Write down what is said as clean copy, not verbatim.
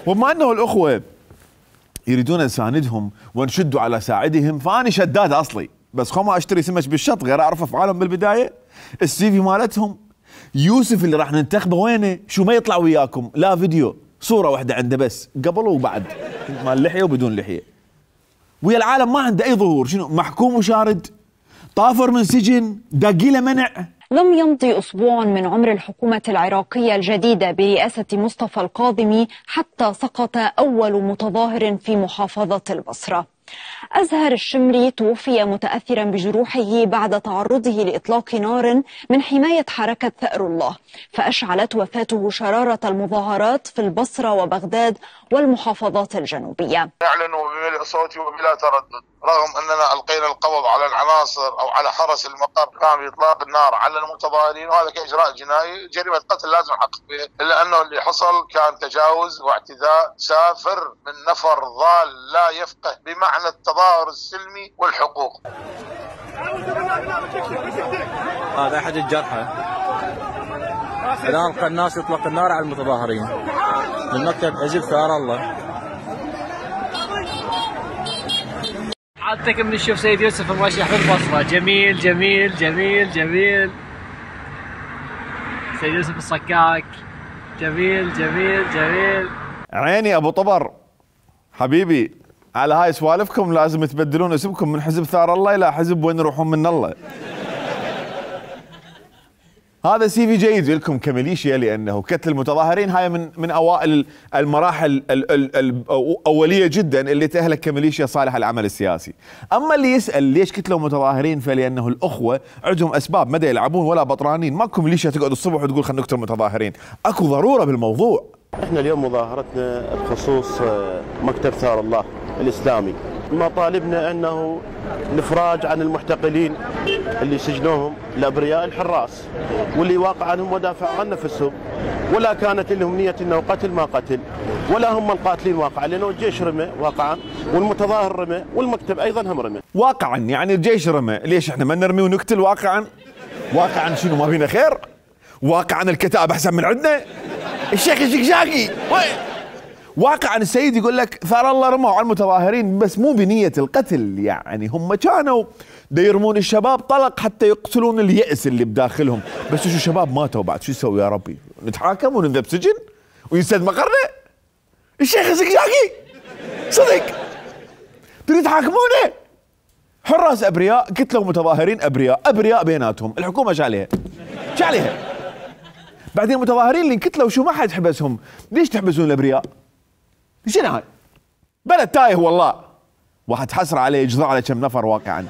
وبما انه الاخوه يريدون نساندهم ونشد على ساعدهم، فاني شداد اصلي، بس خو ما اشتري سمك بالشط غير اعرف افعالهم بالبدايه. السي في مالتهم يوسف اللي راح ننتخبه وينه؟ شو ما يطلع وياكم لا فيديو، صوره واحده عنده بس قبل وبعد، مال لحيه وبدون لحيه، ويا العالم ما عنده اي ظهور. شنو محكوم وشارد، طافر من سجن، داقي له منع. لم يمضي أسبوع من عمر الحكومة العراقية الجديدة برئاسة مصطفى الكاظمي حتى سقط أول متظاهر في محافظة البصرة. أزهر الشمري توفي متأثرا بجروحه بعد تعرضه لإطلاق نار من حماية حركة ثأر الله، فأشعلت وفاته شرارة المظاهرات في البصرة وبغداد والمحافظات الجنوبية. نعلن بملء صوتي وبلا تردد رغم أننا ألقينا القبض على العناصر أو على حرس المقر قام بإطلاق النار على المتظاهرين، وهذا كإجراء جنائي، جريمة قتل لازم نحقق به، إلا أنه اللي حصل كان تجاوز واعتداء سافر من نفر ضال لا يفقه بمعنى التظاهر السلمي والحقوق. هذا أحد الجرحى. الآن القناص يطلق النار على المتظاهرين من مكتب حزب ثار الله. حالتك من نشوف سيد يوسف مرشح في البصرة. جميل جميل جميل جميل. سيد يوسف الصكاك. جميل جميل جميل. عيني ابو طبر حبيبي، على هاي سوالفكم لازم تبدلون اسمكم من حزب ثار الله الى حزب وين يروحون من الله. هذا سي في جيد لكم كميليشيا، لانه قتل المتظاهرين هاي من اوائل المراحل الاوليه جدا اللي تاهلك كميليشيا صالحه للعمل السياسي. اما اللي يسال ليش قتلوا متظاهرين، فلانه الاخوه عندهم اسباب، ما يلعبون ولا بطرانين، ماكو ميليشيا تقعد الصبح وتقول خلينا نقتل متظاهرين، اكو ضروره بالموضوع. احنا اليوم مظاهرتنا بخصوص مكتب ثار الله الاسلامي، مطالبنا انه الافراج عن المحتقلين اللي سجنوهم الابرياء الحراس واللي واقع عنهم ودافع عن نفسهم، ولا كانت لهم نيه انه قتل ما قتل، ولا هم القاتلين واقعا، لانه الجيش رمى واقعا والمتظاهر رمى والمكتب ايضا هم رمى. واقعا يعني الجيش رمى، ليش احنا ما نرمي ونقتل واقعا؟ واقعا شنو ما فينا خير؟ واقعا الكتاب احسن من عندنا؟ الشيخ الشقشاقي واقعا السيد يقول لك ثار الله رموا على المتظاهرين بس مو بنية القتل، يعني هم كانوا يرمون الشباب طلق حتى يقتلون اليأس اللي بداخلهم، بس شو الشباب ماتوا بعد شو يسوي يا ربي؟ نتحاكم ونذهب سجن وينسد مقرنا؟ الشيخ الشقشاقي صدق تريد تحاكمونه؟ حراس ابرياء قتلوا متظاهرين ابرياء بيناتهم، الحكومه شاليها بعدين المتظاهرين اللي انقتلوا شو ما حد حبسهم، ليش تحبسون الابرياء؟ شنو هاي؟ بلد تايه والله، واحد حسر عليه يجزع على كم نفر واقعا.